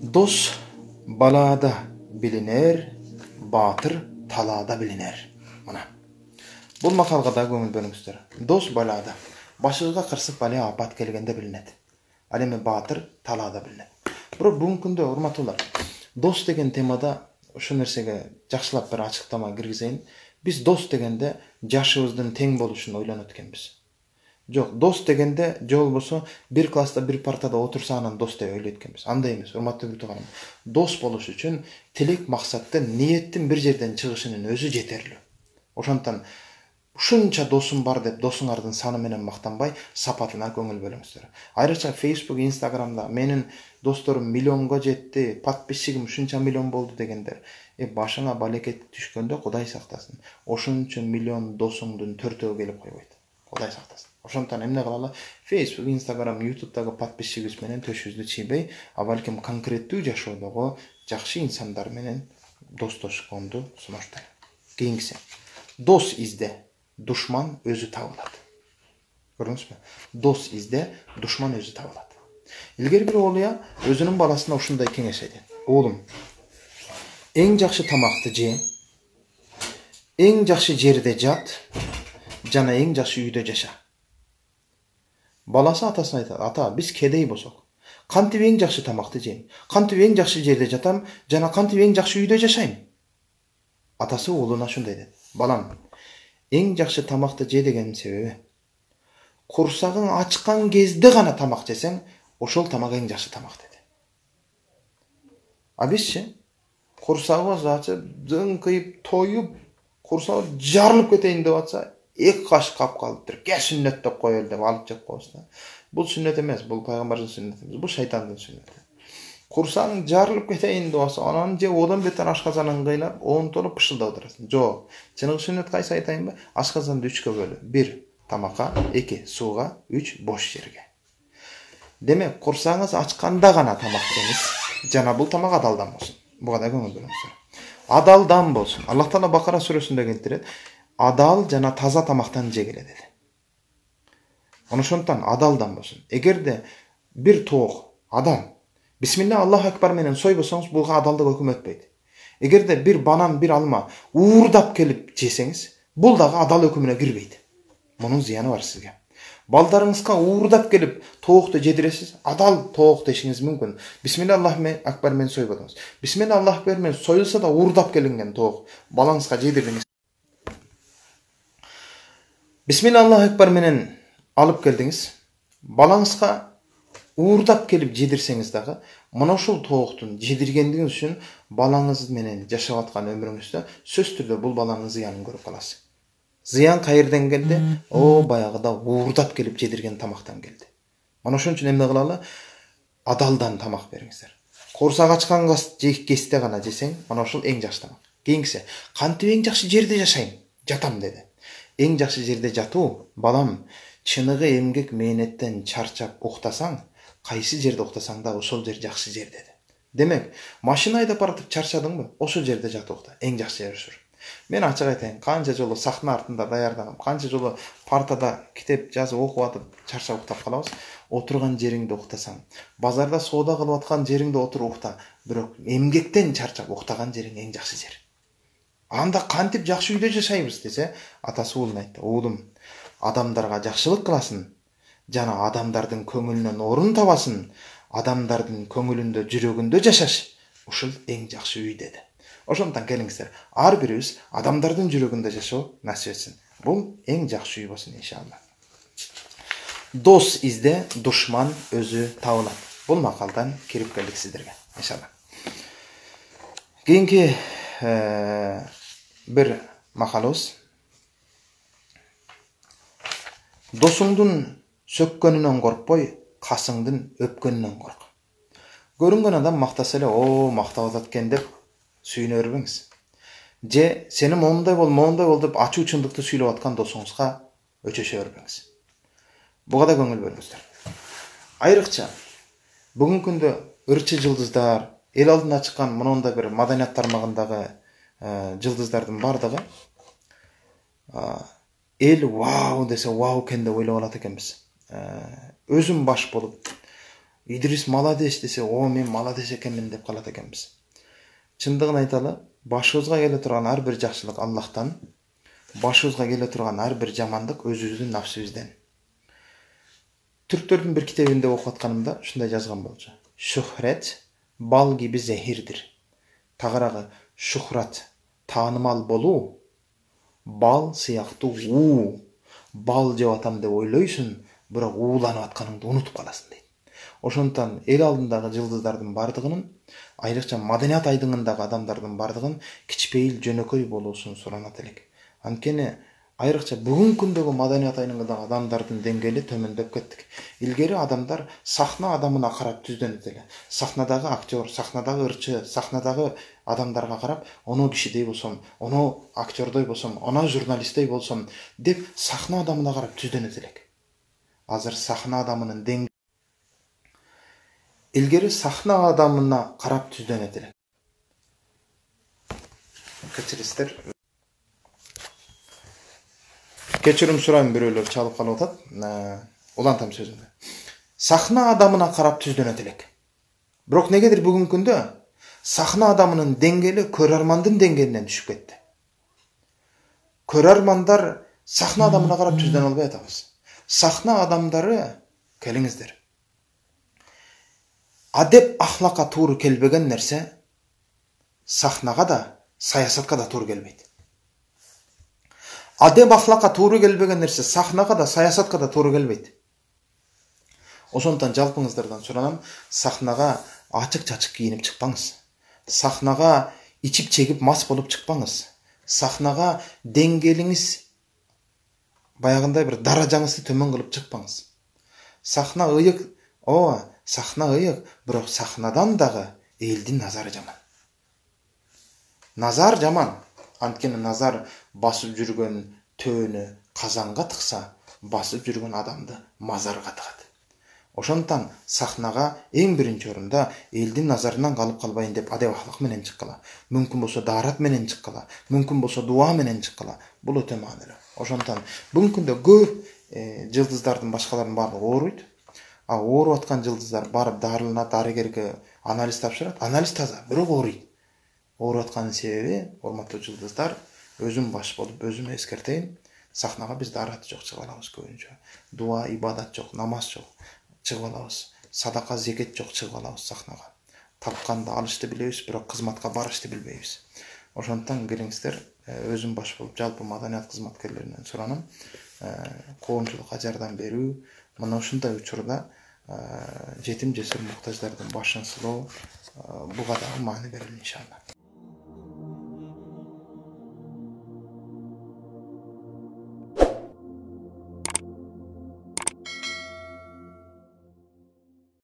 Дос балада билинер, батыр талаада билинер. Мына. Бул макалга да көңүл бөлүңүздөр. Дос балада, башыга кырсык бала апат келгенде билинет. Ал эми батыр талаада билинет. Бирок бүгүнкү күндө урматтуулар, дос деген темада ошол нерсеге жакшылап бир ачыктама киргизейин. Биз дос дегенде жашыбыздын тең болушун ойлонот экенбиз. Жок, дос дегенде же болбосо бир класста бир партада отурса анан дос деп ойлойт экенбиз. Андай эмес, урматтуу тууганым. Дос болуш үчүн тилек, максаттын, ниеттин бир жерден чыгышынын өзү жетерлүү. Ошондон ушунча досум бар деп досуңардын саны менен мактанбай, сапатына көңүл бөлүңүздөр. Айрыкча Facebook, Instagramда менин досторум миллионго жетти, подписчигим ушунча миллион болду дегендер. Башыңа балекет түшкөндө Кудай сактасын. Ошончо миллион досуңдун төртөө келип койбойт. Кудай сактасын. Ошондон эмне кылалы? Facebook, Instagram, YouTube'дагы подписчигибиз менен төшүбүздү чийбей, а балким конкреттүү жашоодогу жакшы инсандар менен достошконду сунуштайм. Кийинкиси. Дос изде, душман өзү табылат. Көрдүңүзбү? Дос изде, душман өзү табылат. Илгери бир оолуя өзүнүн баласына ушундай кеңеш айтат. Оолум, эң жакшы тамакты же, эң жакшы жерде жат, жана эң жакшы үйдө жаша. Баласы атасына айтат: "Ата, биз кедей болсок, кантип эң жакшы тамакты жейм, кантип эң жакшы жерде жатам, жана кантип эң жакшы үйдө жашайм?" Атасы уулуна ушундай дейт: "Балам, эң жакшы тамакты же дегенин себеби, курсагың ачкан кезде гана тамак жесең, ошол тамак эң жакшы тамак" деди. А бизчи курсагыбыз ачып, зыңкыйып, тоюп, курсагыбыз жарылып кетейин деп атса, эки каш кап калыптыр. Ке сүннөт деп коелу деп алып жеп коебуз да. Бул сүннөт эмес, бул пайгамбардын сүннөтү эмес, бул шайтандын сүннөтү. Курсаң жарылып кетейин деп атса, анан же одан бетер ашказанын кыйнап, оонтолуп пышылдап отурасың. Жок, чыныгы сүннөт кайсы айтайынбы? Ашказанды 3кө бөлү. 1 тамакка, 2 сууга, 3 бош жерге. Демек, курсаңыз ачканда гана тамак жеңиз, жана бул тамак адалдан болсун. Буга да көңүл бөлүңүздөр. Адалдан болсун. Аллах Таала Бакара сүрөсүндө келтирет: "Адал жана таза тамактан жегиле" деди. Ошондон адалдан болсун. Эгерде бир тоок адал, бисмилла Аллаху акбар менен сойбосоңуз, буга адалдык өкүм өтпөйт. Эгерде бир банан, бир алма уурдап келип жесеңиз, бул дагы адал өкүмүнө кирбейт. Мунун зыяны бар сизге. Балдарыңызга уурдап келип тоокту жедиресиз, адал тоок дешиңиз мүмкүн. Бисмилла Аллаху акбар менен сойбодуңуз. Бисмилла Аллаху акбар менен союлса да уурдап келинген тоок балаңызга жедирдиңиз. Бисмилла Аллаху акбар менен алып келдиңиз, балаңызга уурдап келип жедирсеңиз дагы, мына ушул тооктун жедиргендигиңиз үчүн балаңыз менен жашап аткан өмүрүңүздө сөзсүз түрдө бул баланын зыянын көрүп каласыз. Зыян кайерден келди? Баягыда уурдап келип жедирген тамактан келди. Мына ошон үчүн эмне кылалы? Адалдан тамак бериңиздер. Курсак ачкан кезде гана жесең, мына ушул эң жакшы тамак. Кийинкиси, кантип эң жакшы жерде жашайм? Жатам деди. Эң жакшы жерде жатуу, балам, чыныгы эмгек мээнеттен чарчап уктасаң, кайсы жерде уктасаң да ошол жер жакшы жер деди. Демек, машина айдап баратып чарчадыңбы? Ошол жерде жатып укта. Эң жакшы жер ушул. Мен ачык айтайын, канча жолу сахна артында даярдагам, канча жолу партада китеп жазып окуп атып чарчап уктап калабыз. Отурган жериңде уктасаң, базарда соода кылып аткан жериңде отуруп укта, бирок эмгектен чарчап уктаган жериң эң жакшы жер. Анда кантип жакшы үйдө жашайбыз десе, атасы уулуна айтты: "Уулум, адамдарга жакшылык кыласың, жана адамдардын көңүлүнөн орун табасың, адамдардын көңүлүндө, жүрөгүндө жашаш. Ушул эң жакшы үй" деди. Ошондон келиңиздер, ар бирибиз адамдардын жүрөгүндө жашоо насип этсин. Бул эң жакшы үй болсун иншалла. Дос изде, душман өзү табылат. Бул макалдан кирип келдик сиздерге, иншалла. Кийинки бир макалыбыз. Досуңдун сөккөнүнөн коркпой, касыңдын өпкөнүнөн корк. Көрүнгөн адам мактаса эле, "О, мактап атат экен" деп сүйүнө бербеңиз. Же сени мондай бол деп ачуу чындыкты сүйлөп аткан досуңузга өчөшө бербеңиз. Буга да көңүл бөлүңүздөр. Айрыкча бүгүнкү күндө ырчы жылдыздар, эл алдына чыккан мондай бир маданият тармагындагы жылдыздардын бардыгы эл вау десе вау экен деп ойлоп алат экенбиз. Өзүм баш болуп, Идрис молодец десе, о мен молодец экенмин деп калат экенбиз. Чындыгын айталы, башыбызга келе турган ар бир жакшылык Аллахтан, башыбызга келе турган ар бир жамандык өзүбүздүн нафсибизден. Түрктөрдүн бир китебинде окуп атканымда ушундай жазган болчу. Шухрет бал gibi зехирдир. Тагыраагы шухрат, таанымал болуу, бал сыяктуу уу. Бал жеп атам деп ойлойсуң, бирок ууланып атканыңды унутуп каласың дейт. Ошондон эл алдындагы жылдыздардын бардыгынын, айрыкча маданият айдыңындагы адамдардын бардыгын кичпейил жөнөкөй болуусун суранат элек. Анткени айрыкча бүгүнкү күндөгү маданият айдыңындагы адамдардын деңгээли төмөндөп кеттик. Илгери адамдар сахна адамына карап түздөнөт эле. Сахнадагы актер, сахнадагы ырчы, сахнадагы адамдарга карап, оно кишидей болсом, оно актердой болсом, оно журналисттей болсом деп сахна адамына карап түздөнөт элек. Азыр сахна адамынын деңгээли илгери сахна адамына карап түздөнөт элек. Кечирисиздер. Кечирим сурайм, бирөөлөр чалып калып атат. Улантам сөзүмдү. Сахна адамына карап түздөнөт элек. Бирок негедир бүгүнкү күндө сахна адамынын деңгээли көрөрмандын деңгээлинен түшүп кетти. Көрөрмандар сахна адамына карап түздөнө албай атабыз. Сахна адамдары, келиңиздер. Адеп ахлакка туура келбеген нерсе сахнага да, саясатка да туура келбейт. Адеп ахлакка туура келбеген нерсе сахнага да, саясатка да туура келбейт. Ошондон жалпыңыздардан суранам, сахнага ачык-чачык кийинип чыкпаңыз. Сахнага ичип чегип мас болуп чыкпаңыз. Сахнага деңгээлиңиз баягындай бир даражаңызды төмөн кылып чыкпаңыз. Сахна ыйык, сахна ыйык, бирок сахнадан дагы элдин назары жаман. Назар жаман. Анткени назар басып жүргөн төөнү казанга тыкса, басып жүргөн адамды мазарга тыгат. Ошондон сахнага эң биринчи орунда элдин назарынан калып калбайын деп адеп ахлак менен чыккыла. Мүмкүн болсо даарат менен чыккыла, мүмкүн болсо дуа менен чыккыла. Бул өтө маанилүү. Ошондон бүгүнкү күндө көп жылдыздардын башкалардын баардыгы ооруйт. Ооруп аткан жылдыздар барып дарыланат, дарыгерге анализ тапшырат. Анализ таза, бирок ооруйт. Ооруп атканын себеби, урматтуу жылдыздар, өзүм баш болуп, өзүм эскертейин, сахнага биз даарат жок чыгып алабыз көбүнчө. Дуа, ибадат жок, намаз жок чыгып алабыз. Садака, зекет жок чыгып алабыз сахнага. Тапканды алышты билебиз, бирок кызматка барышты билбейбиз. Ошондон келиңиздер, өзүм баш болуп, жалпы маданият кызматкерлеринен суранам, коомчулукка жардам берүү, мына ушундай учурда жетим жесир муктаждардын башын сылоо, буга дагы маани берели иншалла.